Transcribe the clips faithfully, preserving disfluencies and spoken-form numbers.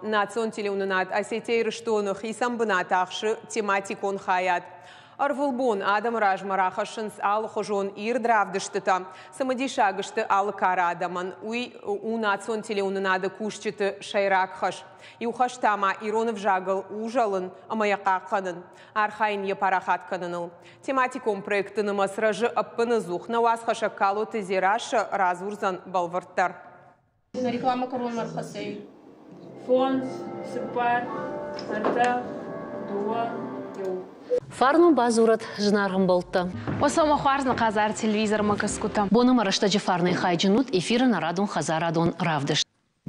Национ телеуынынад Осетия-Ирыстоны хицӕн бынат ахсы тематикон хайад. Ӕрвылбон адӕмы размӕ рахӕссынц алыхуызон ирд равдыстытӕ. Цымыдисаг сты алы кары адӕмӕн. Уый у национ телеуынынады кусджыты сӕйраг хӕс. Иу хӕс та ма ирон ӕвзагыл узӕлын ӕмӕ йӕ хъахъхъӕнын, архайын йӕ парахат кӕныныл. Тематикон проектты нымӕц рӕзы ӕппынӕдзух. Нӕ уацхӕссӕг Калоты Дзерассӕ радзурдзӕн бӕлвырддӕр. Реклама кӕронмӕ ӕрхӕццӕ. Фондз, цыппар, ӕртӕ, дыууӕ, иу. Фарн бадзурӕд, зынаргъ ӕмбӕлттӕ. Уӕ хуарз нӕ хъазар телевизормӕ кӕсгутӕ. Бон ӕмӕ рӕстӕджы фарнӕй хайджын ут, эфиры нӕ радон хӕдзарадон равдыст.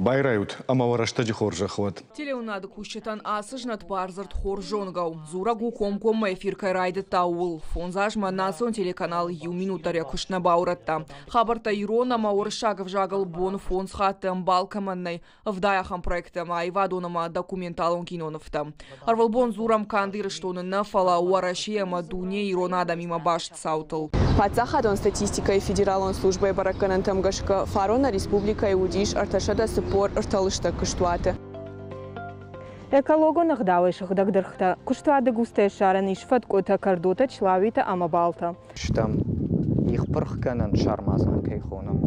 Байрайут ӕмӕ уӕ рӕстӕджы хорзӕх уӕд. Телеуынынады кусджытӕн ацы знӕт бардзырд хорз зонгӕ у. Дзурӕг у, комкоммӕ эфир кӕй райдыдта, ууыл. Фондз азмӕ национ телеканал иу минут дӕр йӕ куыст нӕ баурӕдта. Хабӕрттӕ ирон ӕмӕ уырыссаг ӕвзагыл бон фондз хатты ӕмбал кӕмӕн нӕй, ӕвдай ахӕм проекттӕ ӕмӕ аивадон ӕмӕ документалон кинонывтӕ. Ӕрвылбон дзурӕм канд Ирыстоны нӕ, фӕлӕ Уӕрӕсе ӕмӕ дунейы ирон адӕмимӕ баст цаутыл. Паддзахадон статистикӕйы федералон службӕйы бӕрӕггӕнӕнтӕм гӕсгӕ фарон нӕ республикӕйы уыдис ӕртӕсӕдӕ цыппор ӕртӕ лыстӕг куыстуаты. Экологон ӕгъдауӕй сыгъдӕг дыргътӕ, куыстуаты густӕй ссарӕн ис фӕткъуытӕ, кӕрдотӕ, члауитӕ ӕмӕ балтӕ. Стӕм их пырхгӕнӕн сармадзан кӕй хонӕм.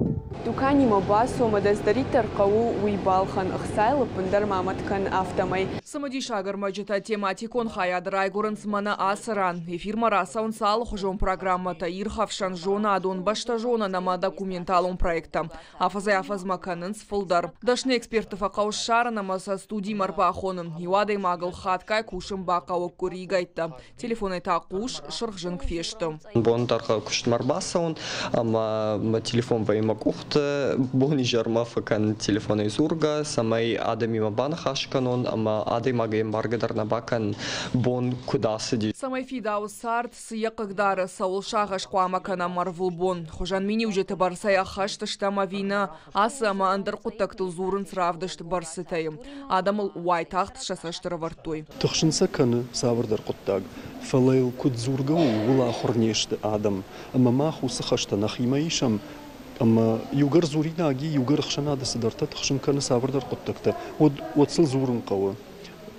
Дуканимӕ бацу ӕмӕ дӕ цыдӕриддӕр хъӕуы, уый балхӕн, ӕхцайыл ӕппындӕр ма мӕт кӕн, афтӕмӕй. Цымыдисаг ӕрмӕджытӕ тематикон хайады райгуырынц мӕнӕ ацы ран. Эфирмӕ рацӕуынц алыхуызон программӕтӕ, ирхӕфсӕн, зонадон, бӕстӕзонӕн ӕмӕ документалон проекттӕ. Афӕдзӕй-афӕдзмӕ кӕнынц фылдӕр. Дӕсны экспертты фӕхъӕуы ссарын ӕмӕ сӕ студимӕ ӕрбахонын. Иу адӕймагыл хатгай кусын бахъӕуы къуыригӕйттӕ. Телефонӕй та хъус сырх зынг фесты. Бон дӕргъы куыстмӕ ӕрбацӕуын ӕмӕ мӕ телефон вӕййы мӕ къухты, бонизӕрмӕ фӕкӕнын телефонӕй дзургӕ, цӕмӕй адӕмимӕ баныхас кӕнон ӕмӕ адӕймагӕй ӕмбаргӕ дӕр нӕ бакӕнын, бон куыд ацыди. Цӕмӕй фидауы цард, цы йӕ хъыгдары, цӕуыл сагъӕс хъуамӕ кӕнӕм ӕрвылбон. Хуызӕн миниуджыты бӕрцӕй ӕххӕст стӕм ӕви нӕ, ацы ӕмӕ ӕндӕр хъуыддӕгтыл дзурынц равдыст бӕрцытӕй. Адӕмыл уайтагъд сӕ цӕст ӕрӕвӕрдтой. Тыхсын сӕ кӕны цавӕрдӕр хъуыддаг, фӕлӕ йыл куыд дзургӕ у, ууыл ахуыр не сты адӕм. Ӕмӕ мах уыцы хӕстӕ нӕхимӕ исӕм ӕмӕ иугӕр дзуринаг и, иугӕр ӕхсӕнады цыдӕртӕ тыхсын кӕны цавӕрдӕр хъуыддӕгтӕ, уӕд, уӕд сыл дзурын хъӕуы.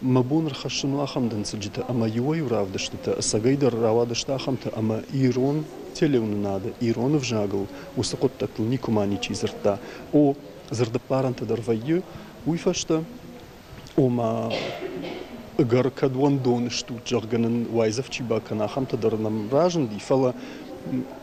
Мӕ бон ӕрхӕссын у ахӕм дӕнцӕджытӕ ӕмӕ иуӕй-иу равдыстытӕ ӕцӕгӕйдӕр рауадысты ахӕмтӕ ӕмӕ ирон телеуынынады, ирон ӕвзагыл уыцы хъуыддӕгтыл никуыма ничи дзырдта. О, дзырдӕппарӕнтӕ дӕр вӕййы, уый фӕстӕ, ома, ӕгӕр кӕд уӕндон стут, зӕгъгӕ нын уайдзӕф чи бакӕна, ахӕмтӕ дӕр нӕм разынди, фӕлӕ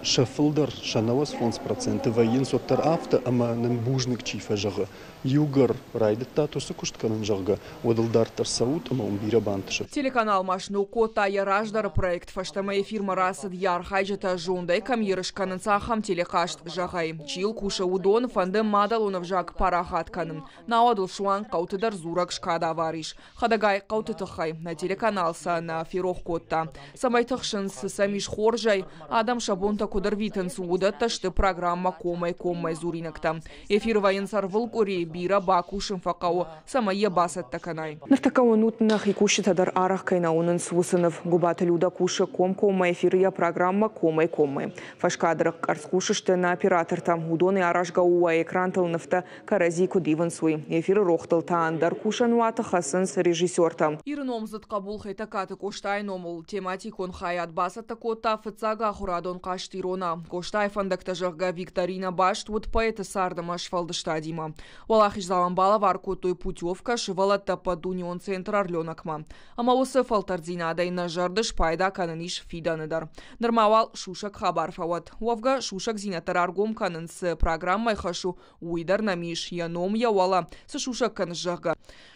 сӕ фылдӕр, сӕ нӕуӕдз фондз проценты вӕййынц уӕддӕр афтӕ, ӕмӕ нын бузныг чи фӕзӕгъы. Иугӕр райдыдтат уыцы куыст кӕнын, зӕгъгӕ, уӕд ыл дарддӕр цӕут ӕмӕ уын бирӕ бантысы. Телеканал ма сног кодта йӕ раздӕры проект. Фӕстӕмӕ эфирмӕ рацыд, йӕ архайджытӕ зондӕй кӕм ерыс кӕнынц, ахӕм телехъазт зӕгъӕй. Чи йыл кусы, уыдон фӕнды мадӕлон ӕвзаг парахат кӕнын. Науӕд ыл суанг хъӕуты дӕр дзурӕг скадавар ис. Хӕдӕгай хъӕуты тыххӕй нӕ телеканал сӕ нӕ ферох кодта. Цӕмӕй тыхсынц, цы сӕм ис хорзӕй, адӕм сӕ бонтӕ куыд ӕрвитынц, уыдӕттӕ сты программӕ комӕй-коммӕ дзуринӕгтӕ. Эфиры вӕййынц ӕрвылкъуыри, бирӕ бакусын фӕхъӕуы, цӕмӕй йӕ бацӕттӕ кӕнай. Ныртӕккӕ уынут, нӕхи кусджытӕ дӕр арӕх кӕй нӕ уынынц, уыцы ныв. Гуыбаты Люда кусы комкоммӕ эфиры йӕ программӕ комӕй-коммӕ. Фӕскадры къӕрцхъус сты нӕ оператортӕ. Уыдонӕй аразгӕ у уӕ экрантыл нывтӕ кӕрӕдзи куыд ивынц, уый. Эфиры рохтыл та ӕндӕр кусӕн уаты хӕцынц режиссертӕ. Иры номдзыд хъӕбул Хетӕгкаты Къостайы номыл тематикон хайад бацӕттӕ кодта фыццаг ахуырадон хъазт Ирона. Къостайы фӕндӕгтӕ, зӕгъгӕ, викторина баст уыд поэты цард ӕмӕ сфӕлдыстадимӕ. Уӕлахиздзауӕн балӕвар кодтой путевкӕ сывӕллӕтты ӕппӕтдунеон центр Орленокмӕ. Ӕмӕ уыцы фӕлтӕрддзинадӕй нӕ зӕрды спайда кӕнын ис фидӕны дӕр. Нырма уал сусӕг хабар фӕуӕд. Уӕвгӕ, сусӕгдзинӕдтӕ раргом кӕнын цы программӕйы хӕс у, уый дӕр нӕм ис, йӕ ном, йӕ уӕлӕ, цы сусӕг кӕныс, зӕгъгӕ.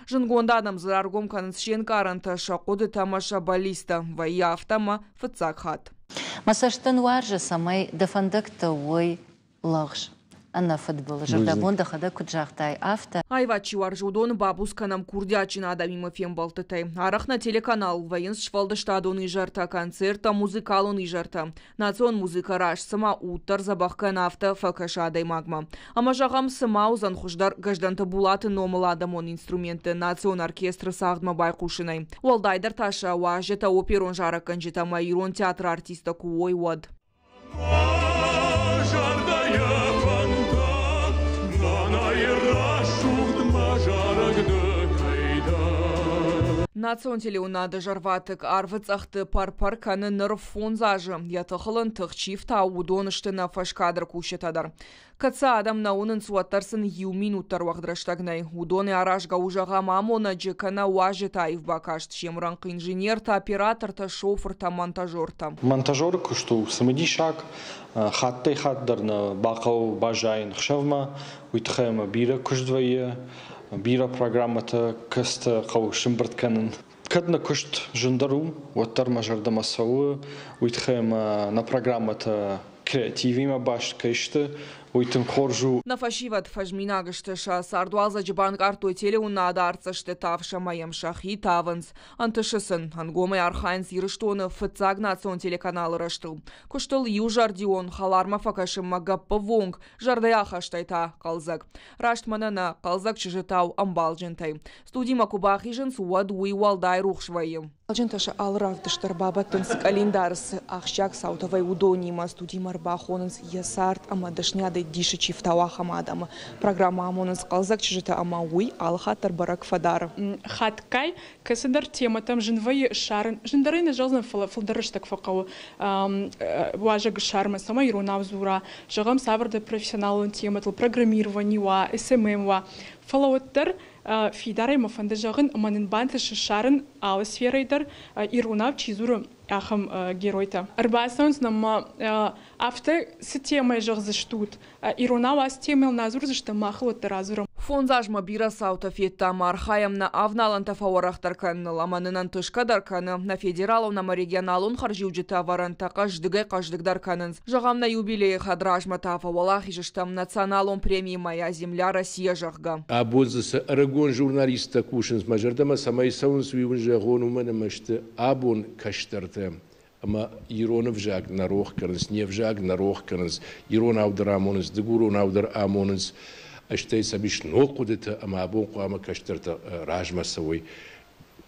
Зындгонд адӕм дзы раргом кӕнынц се нкъарӕнтӕ, сӕ хъуыдытӕ ӕмӕ сӕ бӕллицтӕ. Вӕййы афтӕ ӕмӕ фыццаг хатт. Мӕ цӕстӕн уарзы, цӕмӕй дӕ фӕндӕгтӕ уой лӕгъз, ӕнӕфыдбылыз, зӕрдӕбон дӕхӕдӕг куыд загътай, афтӕ. Аивад чи уарзы, уыдоны бабуц кӕнӕм курдиатджын адӕмимӕ фембӕлдтытӕй. Арӕх нӕ телеканалыл вӕййынц сфӕлдыстадон изӕртӕ, концерттӕ, музыкалон изӕртӕ. Национ музыкӕ раст цыма уд дӕр дзӕбӕх кӕны, афтӕ фӕкӕсы адӕймагмӕ. Ӕмӕ зӕгъӕм, цы ма уыдзӕн хуыздӕр Гӕздӕнты Булаты номыл адӕмон инструментты национ оркестры цагъдмӕ байхъусынӕй. Уӕлдайдӕр та сӕ уазджытӕ оперон зарӕггӕнджытӕ ӕмӕ ирон театры артисттӕ куы уой, уӕд. Зӕрдӕйы фӕндтӕ, нанайы рӕсугъд мӕ зарӕг ды кӕй Национ телеуынынады зӕрватыкк арвы цъӕхты пӕр-пӕр кӕны ныр фондз азы. Йӕ тыхыл ын тых чи фтауы, уыдон сты нӕ фӕскадры кусджытӕ дӕр. Кӕд сӕ адӕм нӕ уынынц, уӕддӕр сын иу минут дӕр уӕгъд рӕстӕг нӕй. Уыдонӕй аразгӕ у, зӕгъӕм, амонӕджы кӕнӕ уазджыты аив бакаст, се мрӕнхъ инженертӕ, оператортӕ, шофыртӕ, монтажертӕ. Монтажеры куыст у цымыдисаг, хаттӕй-хатт дӕр нӕ бахъӕуы баззайын ӕхсӕвмӕ, уый тыххӕй ӕмӕ бирӕ куыст вӕййы, бирӕ программӕтӕ, кӕцытӕ хъӕуы сӕмбырд кӕнын. Кӕд нӕ куыст зындӕр у, уӕддӕр мӕ зӕрдӕмӕ цӕуы, уый тыххӕй ӕмӕ нӕ программӕтӕ креативимӕ баст кӕй сты, уый тынг хорз у. Нӕ фӕсивӕд фӕзминаг сты, сӕ цардуалдзӕджы банкъардтой телеуынынады артдзӕсты тавс ӕмӕ йӕм сӕхи тавынц. Ӕнтысы сын, ӕнгомӕй архайынц Ирыстоны фыццаг национ телеканалы рӕзтыл. Куыстыл иузӕрдион, хӕлармӕ фӕкӕсынмӕ гӕппӕввонг, зӕрдӕйы ахастӕй та хъӕлдзӕг. Раст мӕнӕ нӕ хъӕлдзӕг чызджытау ӕмбалджынтӕй. Студимӕ куы бахизынц, уӕд уый уӕлдай рухс вӕййы. Ӕмбалджынтӕ сӕ алы равдыст дӕр бабӕттынц къӕлиндары цы ахсджиаг цаутӕ вӕййы, уыдонимӕ. Студимӕ ӕрбахонынц йӕ цард ӕмӕ дӕсныйадӕй дисы чи фтауы, ахӕм адӕмы. Программӕ амонынц хъӕлдзӕг чызджытӕ ӕмӕ уый алы хатт дӕр бӕрӕг фӕдары. Хатгай кӕцыдӕр темӕтӕм зын вӕййы ссарын, зындӕрӕй нӕ зӕгъдзӕн, фӕлӕ фылдӕр рӕстӕг фӕхъӕуы уазӕг ссарынмӕ, цӕмӕй иронау дзура, зӕгъӕм, цавӕрдӕр профессионалон темӕтыл, программировани уа, эс эм эм уа. Фӕлӕ уӕддӕр фидарӕй мӕ фӕнды зӕгъын, ӕмӕ нын бантысы ссарын алы сферӕйы дӕр иронау чи дзуры, ахӕм геройтӕ. Ӕрбацӕуынц нӕм афтӕ цы темӕ зӕгъдзыстут, иронау ацы темӕйыл нӕ дзурдзыстӕм, махыл уӕддӕр адзурӕм. Фондз азмӕ бирӕ цаутӕ федтам, архайӕм нӕ авналӕнтӕ фӕуӕрӕхдӕр кӕныныл ӕмӕ нын ӕнтысгӕ дӕр кӕны. Нӕ федералон ӕмӕ регионалон хӕрзиуджыты ӕвӕрӕнтӕ хъӕздыгӕй-хъӕздыгдӕр кӕнынц. Зӕгъӕм, нӕ юбилейы хӕдразмӕ та фӕуӕлахиз стӕм националон премийы «Моя земля Россия», зӕгъгӕ. Абон дзы цы ӕрыгон журналисттӕ кусынц, мӕ зӕрдӕмӕ цӕмӕй цӕуынц, уый уын зӕгъон, уымӕн ӕмӕ сты абон кӕстӕртӕ. Ӕмӕ ирон ӕвзаг нӕ рох кӕнынц, не взаг нӕ рох кӕнынц, иронау дӕр амонынц, дыгуронау дӕр амонынц. Стӕй сӕм ис ног хъуыдытӕ ӕмӕ абон хъуамӕ кӕстӕртӕ размӕ цӕуой,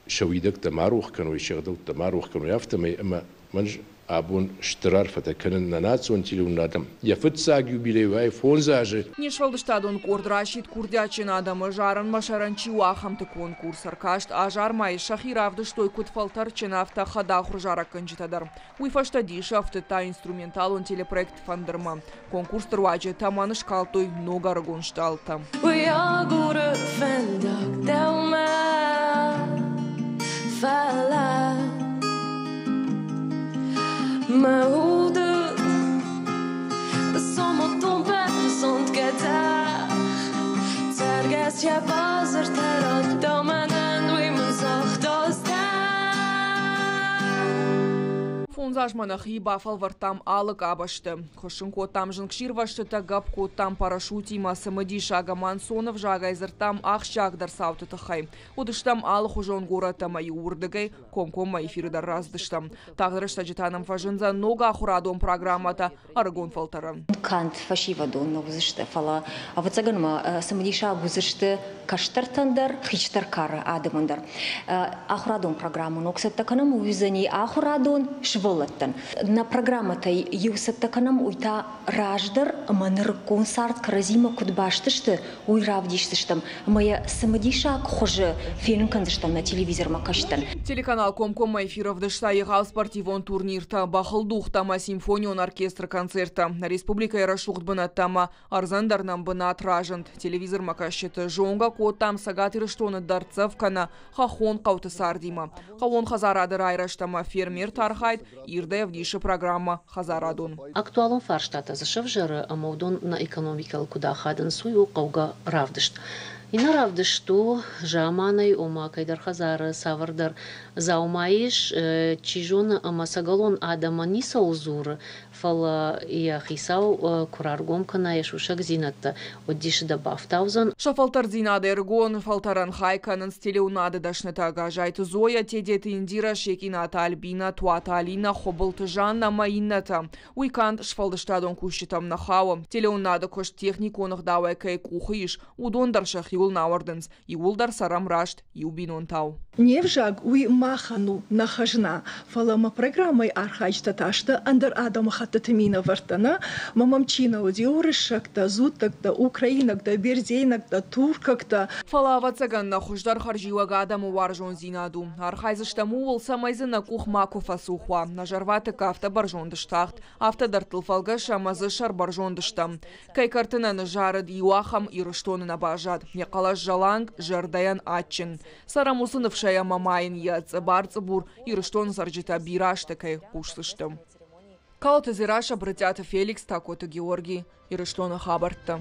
сӕ уидӕгтӕ ма рох кӕной, се гъдӕуттӕ ма рох кӕной, афтӕмӕй ӕмӕ мӕн абон стыр арфӕтӕ кӕнын нӕ национ телеуынынадӕн. Йӕ фыццаг юбилей уай фондз азы. Не сфӕлдыстадон къорд расидт курдиатджын адӕмы зарынмӕ сӕрӕн чи у, ахӕмты конкурс. Ӕркаст азармӕйы сӕхи равдыстой куыд фӕлтӕрдджын, афтӕ хӕдахуыр зарӕггӕнджытӕ дӕр. Уый фӕстӕ дисы ӕфтыдта инструменталон телепроект «Фӕндырмӕ». Конкурсты руаджы тӕмӕн скалдтой ног ӕрыгон стъалытӕ. Уый агуры фӕндаг дӕумӕ, фӕлӕ мӕ уды соматон бӕрзонд гӕдзӕх, цӕргӕс йӕ базыртӕ радта мӕнӕн, уый мын загъта ӕз. Фондз азмӕ нӕхи бафӕлвӕрдтам алы къабӕзты. Хуыссын кодтам зынгсирвӕзтытӕ, гӕпп кодтам парашютимӕ, цымыдисаг ӕмӕ ӕнцон ӕвзагӕй дзырдтам ахсджиагдӕр цауты тыххӕй. Уыдыстӕм алыхуызон горӕттӕ ӕмӕ иу уырдыгӕй комкоммӕ эфиры дӕр рацыдыстӕм. Тагъд рӕстӕджы та нӕм фӕзындзӕн ног ахуырадон программӕтӕ ӕрыгон фӕлтӕрӕн. Канд фӕсивӕдон нӕ уыдзысты, фӕлӕ ӕвӕццӕгӕн ма цымыдисаг уыдзысты кӕстӕртӕн дӕр, хистӕр кары адӕмӕн дӕр. Ахуырадон программӕ ног цӕттӕ кӕнӕм, уый уыдзӕни ахуырадон сывӕллӕттӕн. Нӕ программӕтӕй иу цӕттӕ кӕнӕм, уый та раздӕр ӕмӕ нырыккон цард кӕрӕдзимӕ куыд баст сты, уый равдисдзыстӕм ӕмӕ йӕ цымыдисаг хуызы фенын кӕндзыстӕм нӕ телевизормӕ кӕсджытӕн. Телеканал комкоммӕ эфир ӕвдыста егъау спортивон турниртӕ, бӕхылдугътӕ ӕмӕ симфонион оркестры концерттӕ. Нӕ республикӕйы рӕсугъд бынӕттӕ ӕмӕ ӕрдзӕн дӕр нӕм бынат разынд. Телевизормӕ кӕсджыты зонгӕ кодтам Цӕгат Ирыстоны дӕрддзӕф кӕнӕ хӕххон хъӕуты цардимӕ. Хъӕууон хӕдзарады райрӕзт ӕмӕ фермерты архайд ирдӕй ӕвдисы программӕ «Хӕдзарадон». Актуалон фарстатӕ дзы сӕвзӕры ӕмӕ уыдон нӕ экономикӕйыл куыд ахадынц, уый у хъӕугӕ равдыст. Иннӕ равдыст у заманӕй, ома кӕйдӕр хӕдзары цавӕрдӕр дзаума ис, чи зоны ӕмӕ цӕгӕлон адӕмӕн ницӕуыл дзуры, фӕлӕ йӕ хицау куы раргом кӕна йӕ сусӕгдзинӕдтӕ, уӕд дисы дӕ бафтаудзӕн. Сӕ фӕлтӕрддзинады ӕрыгон фӕлтӕрӕн хай кӕнынц телеуынынады дӕснытӕ Газайты Зоя, Тедеты Индира, Шекъинаты Альбина, Туаты Алина, Хуыбылты Жанна ӕмӕ иннӕтӕ. Уый канд сфӕлдыстадон кусджытӕм нӕ хауы. Телеуынынады куыст техникон ӕгъдауӕй кӕй къухы ис, уыдон дӕр сӕхиуыл нӕ ауӕрдынц. Иууылдӕр цӕрӕм раст иу бинонтау. Не взаг уый махӕн у, нӕ хӕзна, фӕлӕ мӕ программӕйы архайджытӕ та сты ӕндӕр адӕмыхӕттытӕй. адӕмыхӕттыты минӕвӕрттӕ, нӕ? Ӕмӕ мӕм чи нӕ уыди, уырыссӕгтӕ, дзуттӕгтӕ, украинӕгтӕ, бердзейнӕгтӕ, туркӕгтӕ. Фӕлӕ, ӕвӕццӕгӕн, нӕ хуыздӕр хӕрзиуӕг адӕмы уарзондзинад у. Архайдзыстӕм ууыл, цӕмӕй дзы нӕ къух макуы фӕцух уа. Нӕ зӕрватыкк афтӕ бӕрзонд стахт, афтӕ дӕрдтыл фӕлгӕсы ӕмӕ дзы сӕрбӕрзонд стӕм. Кӕй кӕрты нӕ ныззарыд, иу ахӕм Ирыстоны нӕ баззад. Йӕ хъӕлӕс зӕланг, зӕрдӕйӕн адджын. Цӕрӕм уыцы ныфсӕй ӕмӕ ма йын йӕ цъыбар-цъыбур Ирыстоны цӕрджытӕ бирӕ азты кӕй хъусдзысты. Калоты Дзерассӕ, Брытъиаты Феликс, Такоты Георги, Ирыстоны хабӕрттӕ.